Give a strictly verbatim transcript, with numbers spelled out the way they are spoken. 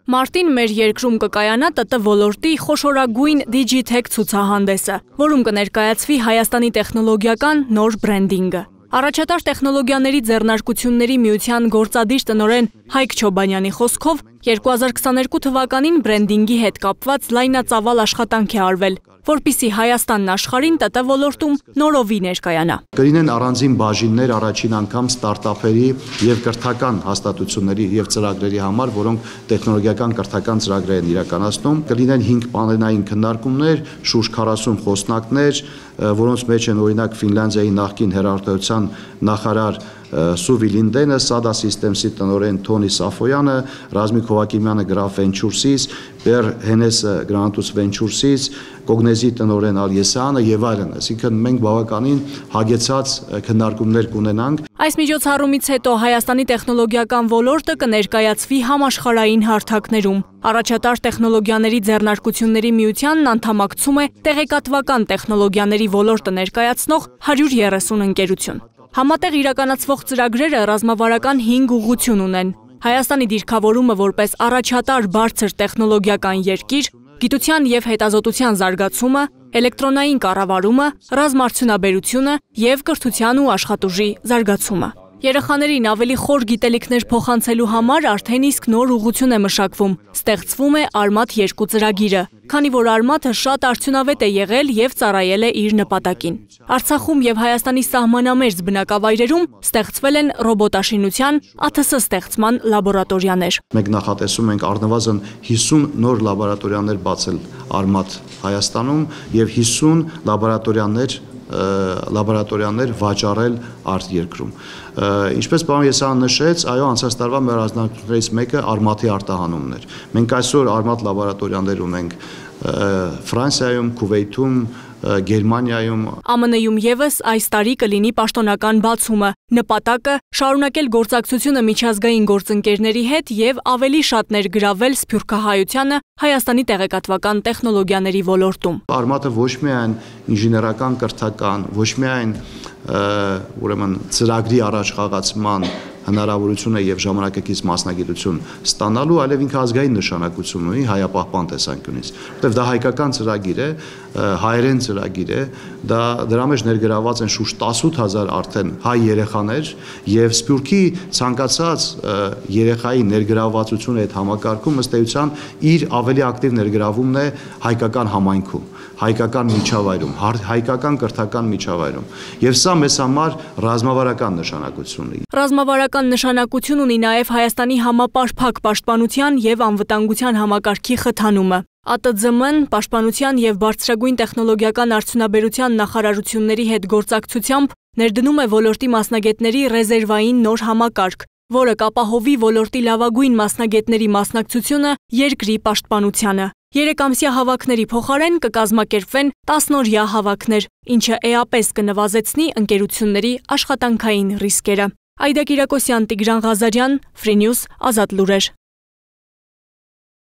Մարտին մեր երկրում կկայանա ՏՏ ոլորտի խոշորագույն Digitech ցուցահանդեսը, որում կներկայացվի Հայաստանի տեխնոլոգիական նոր բրենդինգը։ Առաջատար տեխնոլոգիաների ձեռնարկությունների միության գործադիր տնօրեն Հայկ Չոբանյանի խոսքով երկու հազար քսաներկու թվականին բրենդինգի հետ կապված լայնածավալ աշխատանք է արվել, որպեսզի Հայաստանն աշխարհին ՏՏ ոլորտում նորովի ներկայանա։ Կլինեն առանձին բաժիններ առաջին անգամ ստարտափերի եւ կրթական հաստատությունների եւ ծրագրերի համար, որոնք տեխնոլոգիական կրթական ծրագրեր են իրականացնում։ Կլինեն հինգ պանելային քննարկումներ, շուրջ քառասուն խոսնակներ, որոնց մեջ են օրինակ Ֆինլանդիայի նախկին հեռուստատեսության նախարար Սուվի Լինդենը, Sada Systems-ի տնօրեն Թոնի Սաֆոյանը, Ռազմիկ Հովակիմյանը Graph Ventures-ից, Բեր Հենեսը Grantus Ventures-ից, Կոգնեզի տնօրեն Ալիեսյանը եւ այլն։ Այսինքն մենք բավականին հագեցած քննարկումներ կունենանք։ Այս միջոցառումից հետո Հայաստանի տեխնոլոգիական ոլորտը կներկայացվի համաշխարհային հարթակներում։ Առաջատար տեխնոլոգիաների ձեռնարկությունների միությանն անդամակցում է տեղեկատվական տեխնոլոգիաների ոլորտը ներկայացնող հարյուր երեսուն ընկերություն։ Համատեղ իրականացվող ծրագրերը ռազմավարական հինգ ուղղություն ունեն։ Հայաստանի դիրքավորումը որպես առաջատար բարձր տեխնոլոգիական երկիր, գիտության եւ հետազոտության զարգացումը, էլեկտրոնային կառավարումը, ռազմարդյունաբերությունը եւ կրթության ու աշխատուժի զարգացումը։ Երեխաներին ավելի խոր գիտելիքներ փոխանցելու համար արդեն իսկ նոր ուղղություն է մշակվում, ստեղծվում է Արմաթ երկու ծրագիրը, քանի որ Արմաթը շատ արդյունավետ է եղել եւ ծառայել է իր նպատակին։ Արցախում եւ Հայաստանի սահմանամերձ բնակավայրերում ստեղծվել են ռոբոտաշինության, ԱԹՍ ստեղծման լաբորատորիաներ։ Մենք նախատեսում ենք առնվազն հիսուն նոր լաբորատորիաներ բացել Արմաթ Հայաստանում եւ հիսուն լաբորատորիաներ լաբորատորիաներ վաճառել արտերկրում։ Ինչպես պարոն Եսայան նշեց, այո, անցած տարվա մեր առանձնահատկություններից մեկը Արմաթի արտահանումն էր։ Մենք այսօր Արմաթ լաբորատորիաներ ունենք Ֆրանսիայում, Քուվեյթում, Գերմանիայում։ ԱՄՆ-ում եւս այս տարի կլինի պաշտոնական բացումը։ Նպատակը շարունակել գործակցությունը միջազգային գործընկերների հետ եւ ավելի շատ ներգրավել սփյուռքահայությանը Հայաստանի տեղեկատվական տեխնոլոգիաների ոլորտում։ Արմաթը ոչ միայն ինժեներական կրթական, ոչ միայն ուրեմն ծրագրի առաջխաղացման հնարավորություն է եւ ժամանակակից մասնագիտություն ստանալու, այլև ինքը ազգային նշանակություն ունի հայապահպան տեսանկյունից, որտեղ դա հայկական ծրագիր է, հայերեն ծրագիր է, դա դրա մեջ ներգրաված են շուրջ տասութ հազար արդեն հայ երեխաներ եւ Սփյուռքի ցանկացած երեխայի ներգրավվածությունը այդ համակարգում ըստ էության իր ավելի ակտիվ ներգրավումն է հայկական համայնքում, հայկական միջավայրում, հայկական կրթական միջավայրում։ Եվ սա մեզ համար ռազմավարական նշանակություն ունի։ Ռազմավարական նշանակություն ունի նաև Հայաստանի համապարփակ պաշտպանության եւ անվտանգության համակարգի խթանումը։ ԱՏԶՄ-ն պաշտպանության եւ բարձրագույն տեխնոլոգիական արդյունաբերության նախարարությունների հետ գործակցությամբ ներդնում է ոլորտի մասնագետների ռեզերվային նոր համակարգ, որը կապահովի ոլորտի լավագույն մասնագետների մասնակցությունը երկրի պաշտպանությանը։ Երեկամսյա հավաքների փոխարեն կկազմակերպվեն տասնօրյա հավաքներ, ինչը էապես կնվազեցնի ընկերությունների աշխատանքային ռիսկերը։ Այդա Կիրակոսյան, Տիգրան Ղազարյան, Free News, Ազատ լուրեր։